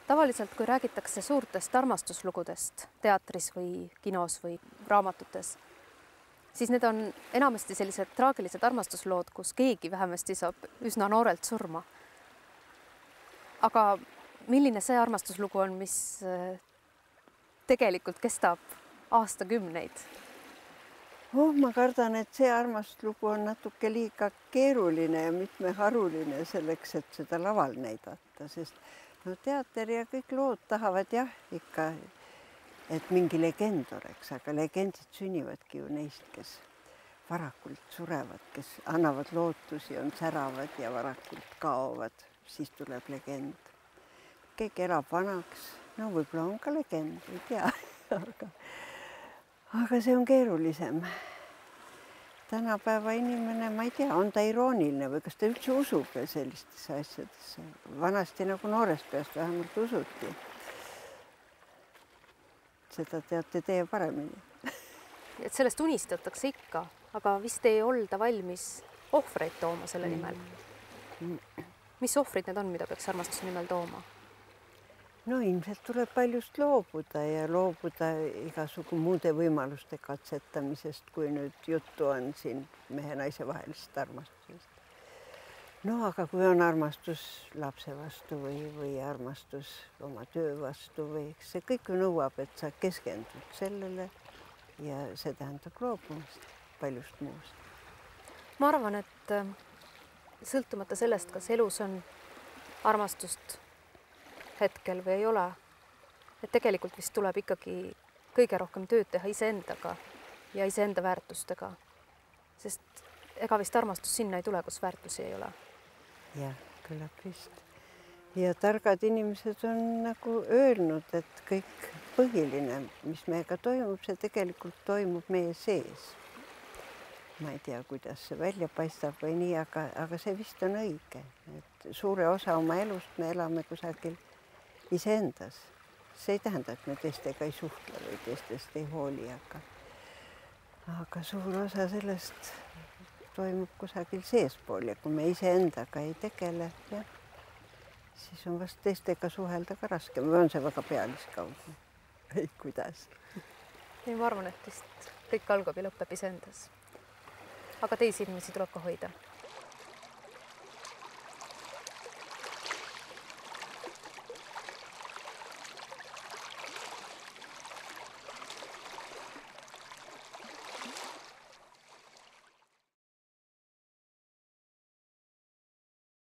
Tavaliselt, kui räägitakse suurtest armastuslugudest teatris või kinos või raamatutes, siis need on enamasti sellised traagilised armastuslood, kus keegi vähemasti saab üsna noorelt surma. Aga milline see armastuslugu on, mis tegelikult kestab aastakümneid? Ma kardan, et see armastuslugu on natuke liiga keeruline ja mitmeharuline selleks, et seda laval näidata, sest teater ja kõik lood tahavad jah, ikka, et mingi legend oleks, aga legendid sünnivadki ju neist, kes varakult surevad, kes annavad lootusi, on säravad ja varakult kaovad, siis tuleb legend. Keegi elab vanaks, no võib-olla on ka legend, ei tea, aga see on keerulisem. Tänapäeva inimene, ma ei tea, on ta irooniline või kas ta üldse usub sellistesse asjadesse. Vanasti nagu noorest peast vähemalt usuti. Seda teate teie paremini. Et sellest unistatakse ikka, aga vist ei olda valmis ohvreid tooma selle nimel. Mis ohvrid need on, mida peaks armastuse nimel tooma? No ilmselt tuleb paljust loobuda ja loobuda igasugu muude võimaluste katsetamisest, kui nüüd juttu on siin mehe-naise vahelisest armastusest. No aga kui on armastus lapse vastu või armastus oma töö vastu või see kõik nõuab, et sa keskendud sellele ja see tähendab loobumist paljust muust. Ma arvan, et sõltumata sellest, kas elus on armastust hetkel või ei ole, et tegelikult vist tuleb ikkagi kõige rohkem tööd teha iseendaga ja iseenda väärtustega, sest ega vist armastus sinna ei tule, kus väärtusi ei ole. Jah, küllap vist. Ja targad inimesed on nagu öelnud, et kõik põhiline, mis meiega toimub, see tegelikult toimub meie sees. Ma ei tea, kuidas see välja paistab või nii, aga see vist on õige, et suure osa oma elust me elame kusagil iseendas. See ei tähenda, et me teistega ei suhtle või teistest ei hooli, aga suur osa sellest toimub kusagil seespool ja kui me iseendaga ei tegele, siis on vast teistega suhelda ka raskem või on see väga pealiskaudu? Ei, kuidas? Ma arvan, et vist kõik algab ja lõpeb iseendas. Aga teisi inimesi tuleb ka hoida.